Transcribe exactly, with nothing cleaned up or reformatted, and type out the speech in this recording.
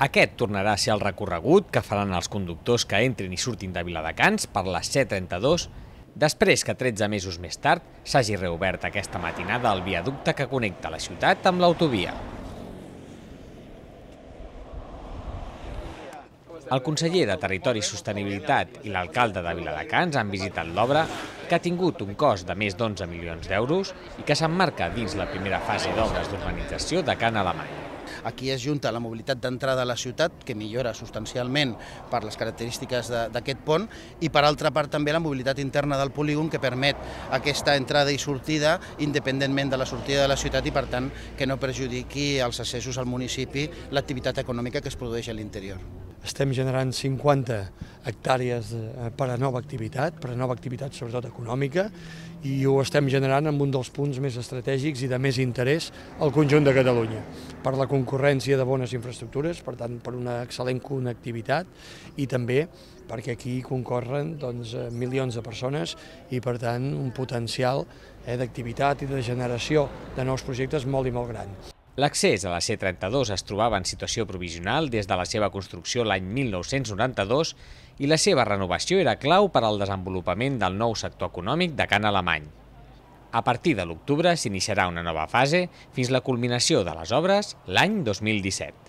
Aquest tornarà a ser el recorregut que faran els conductors que entrin i surtin de Viladecans per la C trenta-dos, després que tretze mesos més tard s'hagi reobert aquesta matinada el viaducte que connecta la ciutat amb l'autovia. El conseller de Territori i Sostenibilitat i l'alcalde de Viladecans han visitat l'obra, que ha tingut un cost de més d'onze milions d'euros i que s'emmarca dins la primera fase d'obres d'urbanització de Can Alemany. Aquí es junta la mobilitat d'entrada a la ciutat, que millora substancialment per les característiques d'aquest pont, i per altra part també la mobilitat interna del polígon, que permet aquesta entrada i sortida independentment de la sortida de la ciutat i per tant que no perjudiqui els accessos al municipi l'activitat econòmica que es produeix a l'interior. Estem generant cinquanta hectàrees per a nova activitat, per a nova activitat sobretot econòmica, i ho estem generant en un dels punts més estratègics i de més interès al conjunt de Catalunya, per la concurrència de bones infraestructures, per tant per una excel·lent connectivitat i també perquè aquí concorren doncs, milions de persones i per tant un potencial eh, d'activitat i de generació de nous projectes molt i molt gran. L'accés a la C trenta-dos es trobava en situació provisional des de la seva construcció l'any mil nou-cents noranta-dos i la seva renovació era clau per al desenvolupament del nou sector econòmic de Can Alemany. A partir de l'octubre s'iniciarà una nova fase fins la culminació de les obres l'any dos mil disset.